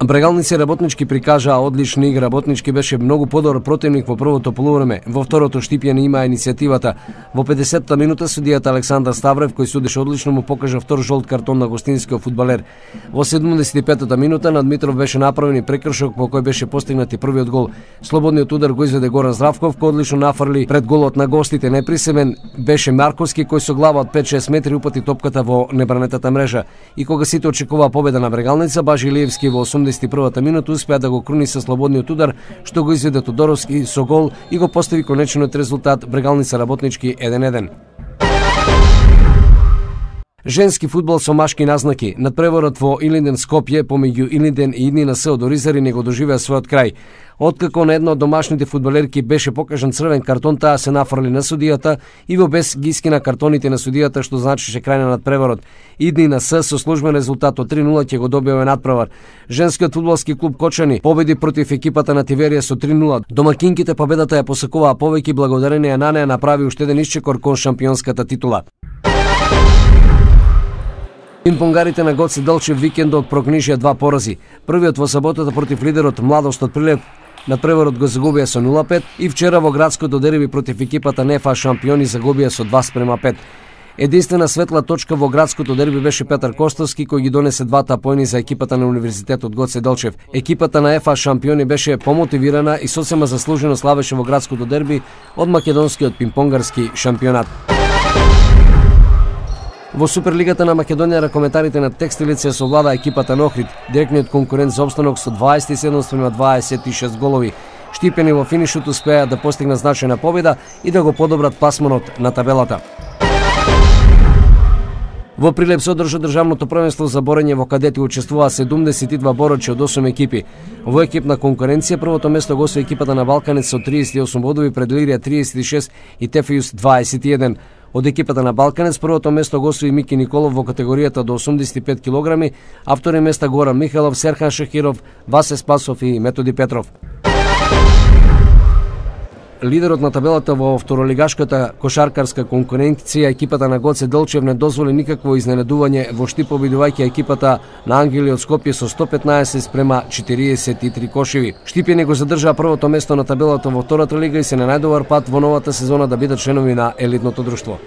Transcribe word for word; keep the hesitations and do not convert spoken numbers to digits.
Брегалници Работнички прикажаа одлична игра. Работнички беше многу подобар противник во првото полувреме. Во второто Штипјани имаа иницијативата. Во педесетта минута судијата Александар Ставрев, кој судеше одлично, му покажа втор жолт картон на гостинскиот фудбалер. Во седумдесет и петата минута над Митров беше направен и прекршок по кој беше постигнат и првиот гол. Слободниот удар го изведе Горан Здравков, кој одлично нафрли пред голот на гостите. Неприсемен беше Марковски, кој со глава од пет-шест метри упати топката во небранетата мрежа. И кога сите очекуваа победа на Брегалница, Бажи Илиевски во осумдесет и првата минута успеа да го круни со слободниот удар, што го изведе Тодоровски со гол и го постави конечниот резултат Брегалница Работнички еден еден. Женски фудбал со машки назнаки. Надпреварот во Илинден Скопје помеѓу Илинден и ИДНИНС од Оризари не го доживеа својот крај. Откако на една од домашните фудбалерки беше покажан црвен картон, таа се нафрли на судијата и во без ги искина картоните на судијата, што значеше крај на надпреварот. ИДНИНС со службен резултат од три нула ќе го добие овој надпревар. Женскиот фудбалски клуб Кочани победи против екипата на Тиверија со три нула. Домакинките победата ја посекуваа повеќе благодарение на неа направи уште еден исчекор кон шампионската титула. Пинпонгарите на Гоце Делчев викендот прокнижија два порази. Првиот во саботата против лидерот Младост од Прилеп, надпреварот го загубија со нула пет и вчера во градското дерби против екипата НФА шампиони загубија со два спрема пет. Единствена светла точка во градското дерби беше Петар Костовски, кој ги донесе двата поени за екипата на Универзитетот Гоце Делчев. Екипата на ЕФА шампиони беше помотивирана и сосема заслужено славеше во градското дерби од македонскиот пинпонгарски шампионат. Во Суперлигата на Македонија ракометарите на Текстилица совлада екипата на Охрид, директниот конкурент за опстанок со дваесет и седум спрема дваесет и шест голови. Штипени во финишот успеа да постигнат значајна победа и да го подобрат пласманот на табелата. Во Прилеп се одржа државното првенство за борење во кадети, учествуваа седумдесет и два борачи од осум екипи. Во екипна конкуренција првото место го освои екипата на Балканец со триесет и осум бодови пред Лирија триесет и шест и Тефејус дваесет и еден. Од екипата на Балканец првото место го освои Мики Николов во категоријата до осумдесет и пет килограми, а втори места Горан Михайлов, Серхан Шахиров, Васе Спасов и Методи Петров. Лидерот на табелата во второлигашката кошаркарска конкуренција, екипата на Гоце Делчев, не дозволи никакво изненадување во Штип, победувајќи екипата на Ангели од Скопје со сто петнаесет спрема четириесет и три кошеви. Штипјани го задржаа првото место на табелата во втората лига и се на најдобар пат во новата сезона да бидат членови на елитното друштво.